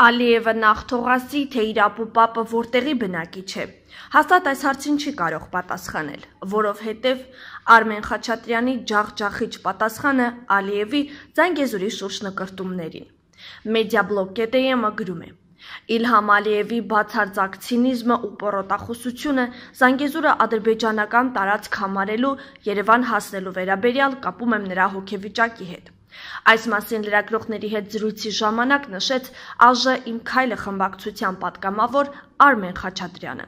Ալիևը նախ թողասի, թե իր ապուպապը որտեղի բնակիչ է։ Հաստատ այս հարցին չի կարող պատասխանել, որովհետև Արմեն Խաչատրյանի ջախջախիչ պատասխանը Ալիևի Զանգեզուրի շուրջ նկրտումներին։ Մեդիաբլոգ.am գրում է. Իլհամ Ալիևի բացարձակ ցինիզմը ու պոռոտախոսությունը Զանգեզուրը ադրբեջանական տարածք համարելու Երևան հասնելու վերաբերյալ կապում եմ նրա հոգեվիճակի հետ։ Այս մասին լրագրողների հետ զրույցի ժամանակ նշեց ԱԺ «Իմ քայլը» խմբակցության պատգամավոր Արմեն Խաչատրյանը։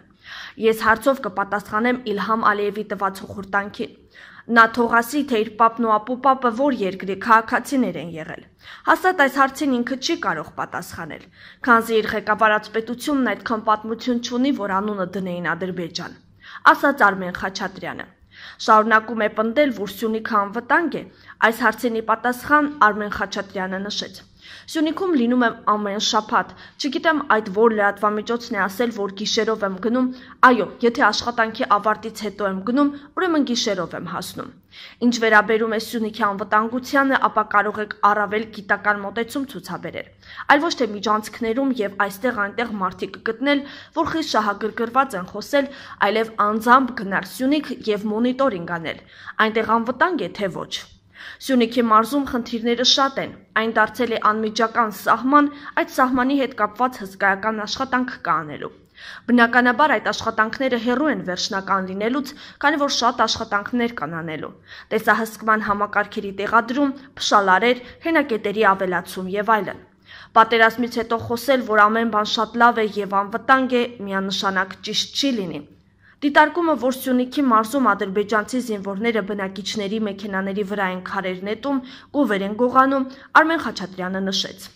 Ես հարցով կպատասխանեմ Իլհամ Ալիևի տված հոխորտանքին։ Նա թողասի, թե իր պապն ու ապուպապը որ երկրի քաղաքացիներ են եղել։ Հաստատ այս հարցին ինքը չի կարող պատասխանել, քանզի իր ղեկավարած պետությունն այդքան պատմություն չունի, որ անունը դնեին Ադրբեջան, ասաց Արմեն Խաչատրյանը։ Շարունակում է պնդել, որ Սյունիքը անվտանգ է, այս հարցինի պատասխան Արմեն Խաչատրյանը նշեց. Սյունիքում լինում եմ ամեն շաբաթ, չգիտեմ այդ որ լրատվամիջոցն է ասել, որ գիշերով եմ գնում, այո, եթե աշխատանքի ավարտից հետո եմ գնում, ուրեմն գիշերով եմ հասնում։ Ինչ վերաբերում է Սյունիքի անվտանգությանը, ապա կարող եք առավել գիտական մոտեցում ցուցաբերել, այլ ոչ թե միջանցքներում եւ այստեղ-այնտեղ մարդիկ գտնել, որ խիստ շահագրգռված են խոսել, այլև անձամբ գնալ Սյունիք եւ մոնիտորինգ անել, այնտեղ անվտանգ է թե ոչ։ Սյունիքի մարզում խնդիրները շատ են, այն դարձել է անմիջական սահման, այդ սահմանի հետ կապված հսկայական աշխատանք կա անելու։ Բնականաբար այդ աշխատանքները հեռու են վերջնական լինելուց, քանի որ շատ աշխատանքներ կան անելու։ Տեսահսկման համակարգերի տեղադրում, փշալարեր, հենակետերի ավելացում եւ այլն։ Պատերազմից հետո խոսել, որ ամեն բան շատ լավ է եւ անվտանգ է, միանշանակ ճիշտ չի լինի։ Դիտարկումը, որ Սյունիքի մարզում ադրբեջանցի զինվորները բնակիչների մեքենաների վրա են քարեր նետում, կովեր են գողանում, Արմեն Խաչատրյանը նշեց,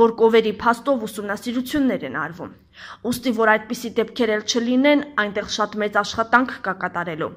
որ կովերի փաստով ուսումնասիրություններ են արվում։ Ուստի, որ այդպիսի դեպքեր էլ չլինեն, այնտեղ շատ մեծ աշխատանք կա կատարելու։